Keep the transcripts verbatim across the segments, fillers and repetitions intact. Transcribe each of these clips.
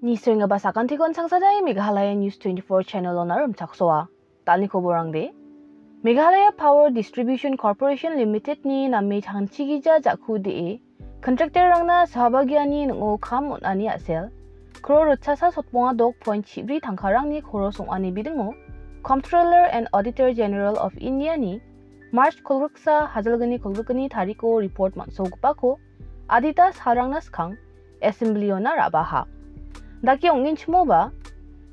Ni senggipa sakantikon sangsadai Meghalaya News twenty-four channel-ona rimchaksoa. Dal·ni koborangde. Meghalaya Power Distribution Corporation Limited-ni name tangchigija ja·ku de·e, contractor-rangna sabagiani ning·o kam on·ani a·sel, crore ritchasa sotbonga dok point chibri tangkarangni koros ong·ani bidingo, Comptroller and Auditor General of India-ni March kolgriksa, hajalgni kolgrikgni tariko report man·sogipako adita salrangna skang Assembly-ona ra·baha. Dake ong·genchimoba,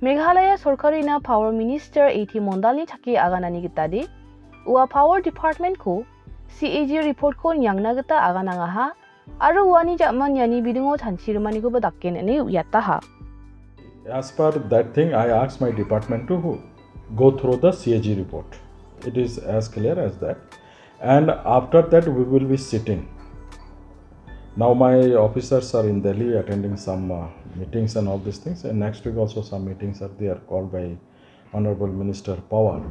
Meghalaya sorkarina Power Minister A T Mondalni chake aganani gitade, ua Power Department-ko C A G report-ko niangna gita aganangaha, aro uani ja·man iani bidingo chanchirimanikoba daken ine uiataha. As per that thing, I asked my department to who? Go through the C A G report. It is as clear as that. And after that, we will be sitting. Now, my officers are in Delhi attending some uh, meetings and all these things. And next week, also, some meetings are there called by Honorable Minister Pawar.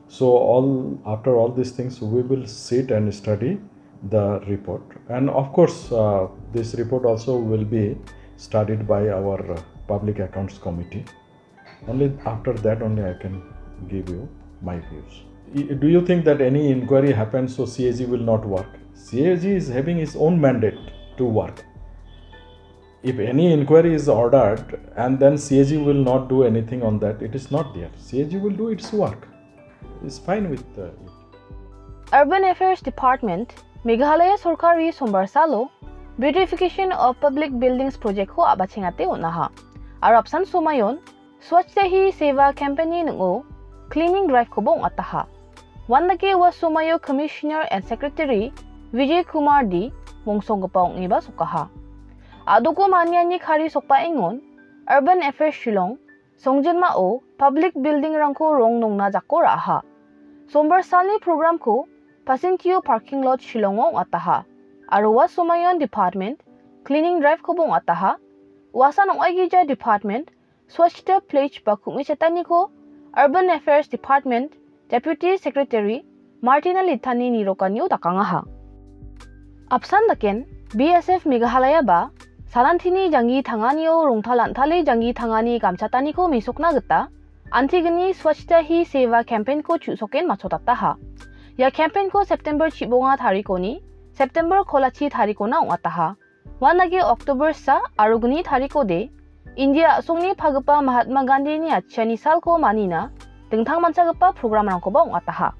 So, all after all these things, we will sit and study the report. And of course, uh, this report also will be studied by our uh, Public Accounts Committee. Only after that only I can give you my views. I- Do you think that any inquiry happens so C A G will not work? C A G is having its own mandate to work. If any inquiry is ordered and then C A G will not do anything on that, it is not there. C A G will do its work. It's fine with uh, it. Urban Affairs Department, Meghalaya sorkari sombar salo Beautification of Public Buildings project-ko a·bachengate on·aha. Aro apsan somayon Swachhata Hi Seva campaign-ni ning·o cleaning drive-koba ong·ataha. Uandake ua somaio Commissioner and Secretary Vijay Kumar D mongsonggipa ong·eba sokaha. A·doko maniani kari sokbaengon Urban Affairs Shillong songjinmao public building-rangko rong nongna jako ra·aha. Sombar salni program-ko Pasintio parking lot Shillongo ong·ataha. Aro ua somayon department cleaning drive-koba ong·ataha. Uasan ong·aigija department Swachhata Pledge ba ku·mi chataniko Urban Affairs Department Deputy Secretary Martina Litani nirokanio dakangaha. Apsan daken B S F Meghalaya ba salantini janggi tanganio rongtal an·tale janggi tangani gamchataniko mesokna gita antigni Swachhata Hi Seva campaign-ko chu·soken machotataha. Ia campaign-ko September chibonga tarikoni September kolachi tarikona ong·ataha. Uandake October sa aro gni tarikode India a·songni pagipa Mahatma Gandhini atchiani salko manina dingtangmanchagipa programrangkoba ong·ataha.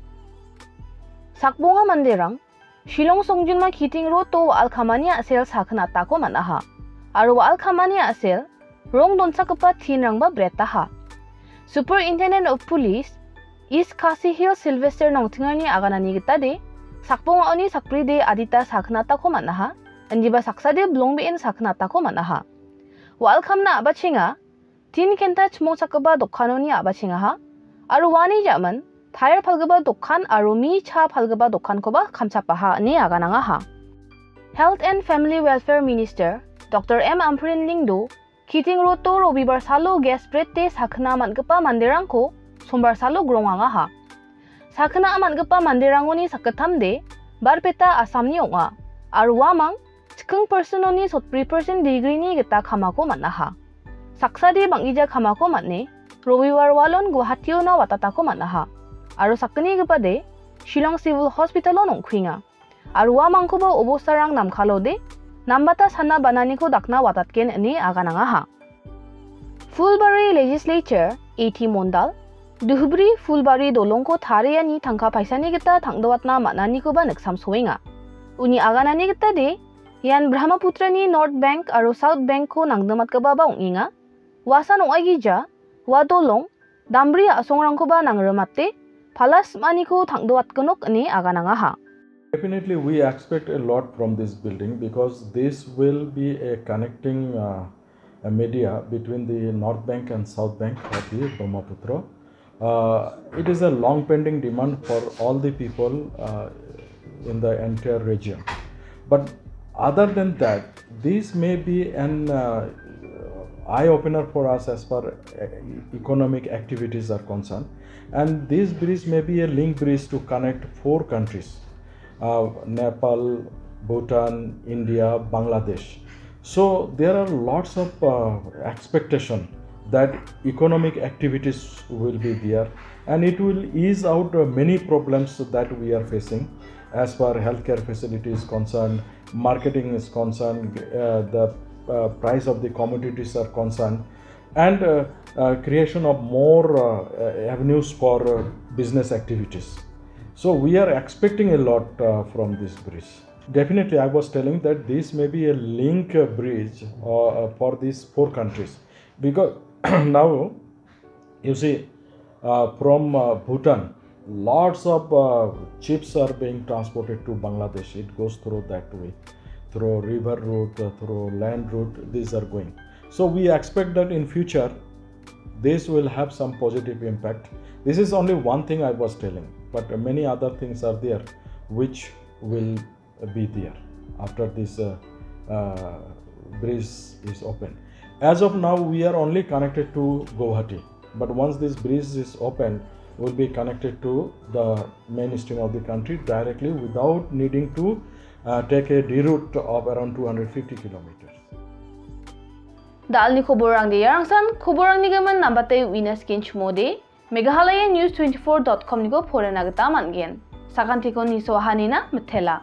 Sakbonga manderang Shillong songjinma Kiting Road-o wa·al kamani a·sel sakgnatako man·aha. Aro wa·al kamani a·sel rong donchakgipa tinrangba bretaha. Superintendent of Police East Khasi Hills Sylvester Nongtingarni aganani gitade, sakbongaoni sakbride adita sakgnatako man·aha, indiba saksade bilongbeen sakgnatako man·aha. Wa·al kamna a·bachenga, tin kenta chimongchakgipa dokanoni a·bachengaha, aro uani ja·man, tair palgipa dokan aro mi cha palgipa dokankoba kamchapaha ine aganangaha. Health and Family Welfare Minister Doctor M Ampareen Lyngdoh Kiting Road-o Robibar salo gas brete sakgna man·gipa manderangko Sombar salo grongangaha. Sakgna man·gipa manderangoni sakgittamde Barpeta Assamni ong·a, aro uamang chiking percent-oni sotbri percent degree-ni gita kamako man·aha. Saksade bang·gija kamako man·e, Robibar walon Guwahationa watatako man·aha, aro sakgnigipade Shillong Civil Hospital-o nongkuenga. Aro uamangkoba obostarang namkalode, nambata sana bananiko dakna watatgen ine aganangaha. Phulbari Legislature A T Mondal, Dhubri Phulbari dolongko tariani tangka paisani gita tangdoatna man·anikoba niksamsoenga. Uni aganani gitade, ian Brahmaputrani North Bank aro South Bank-ko nangdimatgipaba ong·enga. Uasan ong·aigija, ua dolong, dambri a·songrangkoba nangrimate, pala sim·aniko tangdoatgenok ine aganangaha. Definitely, we expect a lot from this building because this will be a connecting uh, a media between the North Bank and South Bank of the Brahmaputra. Uh, it is a long pending demand for all the people uh, in the entire region. But other than that, this may be an uh, eye opener for us as far uh, economic activities are concerned. And this bridge may be a link bridge to connect four countries uh, Nepal, Bhutan, India, Bangladesh. So there are lots of uh, expectation that economic activities will be there, and it will ease out uh, many problems that we are facing as far healthcare facility is concerned, marketing is concerned, uh, the uh, price of the commodities are concerned, and uh, uh, creation of more uh, uh, avenues for uh, business activities. So we are expecting a lot uh, from this bridge. Definitely, I was telling that this may be a link uh, bridge uh, uh, for these four countries, because now you see uh, from uh, Bhutan, lots of uh, chips are being transported to Bangladesh. It goes through that way, through river route, uh, through land route. These are going. So we expect that in future, this will have some positive impact. This is only one thing I was telling, but many other things are there which will be there after this uh, uh, bridge is open. As of now, we are only connected to Guwahati, but once this bridge is open, we'll be connected to the mainstream of the country directly without needing to uh, take a reroute of around two hundred fifty kilometers. Dalni koborang de yarangsan, koborang ni gaman nambate winas kinch mode, Meghalaya News twenty-four dot com niko porena gita man gen. Sakan tiko niso hanina metela.